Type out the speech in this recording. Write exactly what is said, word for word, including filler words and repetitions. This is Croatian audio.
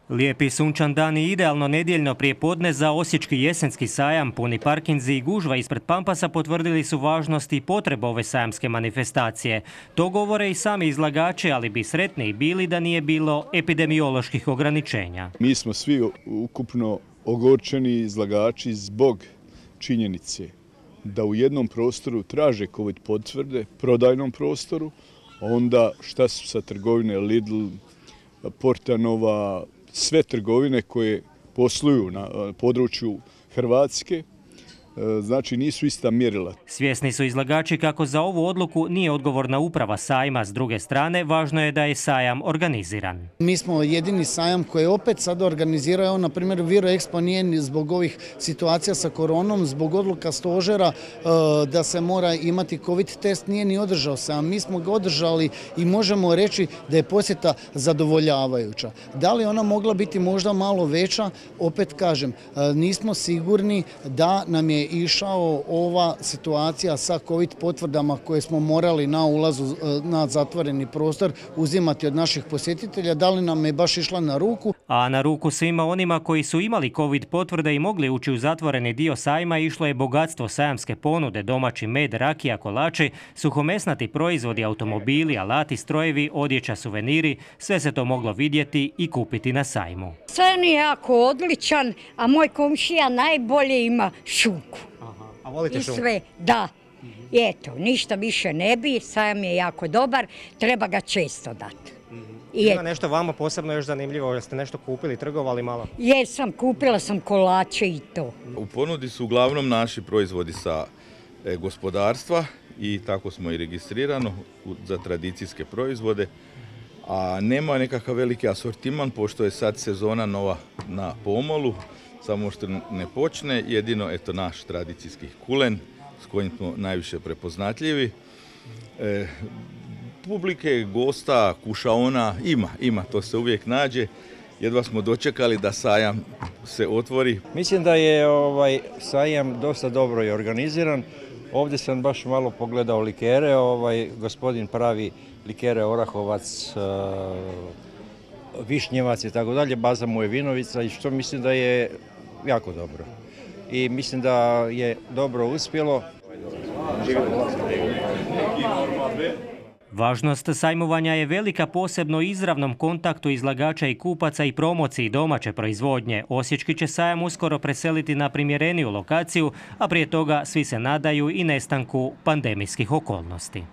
Lijepi sunčan dan i idealno nedjeljno prijepodne za osječki jesenski sajam. Puni parkinzi i gužva ispred Pampasa potvrdili su važnost i potrebu ove sajamske manifestacije. To govore i sami izlagači, ali bi sretni bili da nije bilo epidemioloških ograničenja. Mi smo svi ukupno ogorčeni izlagači zbog činjenice da u jednom prostoru traže COVID potvrde, prodajnom prostoru, onda šta su sa trgovine Lidl, Portanova, sve trgovine koje posluju na području Hrvatske, znači nisu ista mjerila. Svjesni su izlagači kako za ovu odluku nije odgovorna uprava sajma. S druge strane, važno je da je sajam organiziran. Mi smo jedini sajam koji opet sad organizirao, na primjer Viro Expo nije zbog ovih situacija sa koronom, zbog odluka stožera da se mora imati COVID test, nije ni održao sajam. Mi smo ga održali i možemo reći da je posjeta zadovoljavajuća. Da li ona mogla biti možda malo veća? Opet kažem, nismo sigurni da nam je išao ova situacija sa COVID potvrdama koje smo morali na ulazu na zatvoreni prostor uzimati od naših posjetitelja, da li nam je baš išla na ruku? A na ruku svima onima koji su imali COVID potvrde i mogli ući u zatvoreni dio sajma išlo je bogatstvo sajamske ponude, domaći med, rakija, kolači, suhomesnati proizvodi, automobili, alati, strojevi, odjeća, suveniri, sve se to moglo vidjeti i kupiti na sajmu. Sajam je jako odličan, a moj komšija najbolje ima šunku. Aha. A volite šunku? I sve, da. I eto, ništa više ne bi, sajam je jako dobar, treba ga često dati. Ima nešto vama posebno još zanimljivo, jeste nešto kupili, trgovali malo? Jesam, kupila sam kolače i to. U ponudi su uglavnom naši proizvodi sa e, gospodarstva i tako smo i registrirano za tradicijske proizvode, a nema nekakav veliki asortiman pošto je sad sezona nova na pomolu, samo što ne počne, jedino eto naš tradicijski kulen s kojim smo najviše prepoznatljivi. E, publike, gosta, kušaona ima, ima, to se uvijek nađe. Jedva smo dočekali da sajam se otvori. Mislim da je ovaj sajam dosta dobro i organiziran. Ovdje sam baš malo pogledao likere, ovaj gospodin pravi likere Orahovac, Višnjevac i tako dalje, baza mu je Vinovica i što mislim da je jako dobro. I mislim da je dobro uspjelo. Važnost sajmovanja je velika posebno izravnom kontaktu izlagača i kupaca i promociji domaće proizvodnje. Osječki će sajam uskoro preseliti na primjereniju lokaciju, a prije toga svi se nadaju i nestanku pandemijskih okolnosti.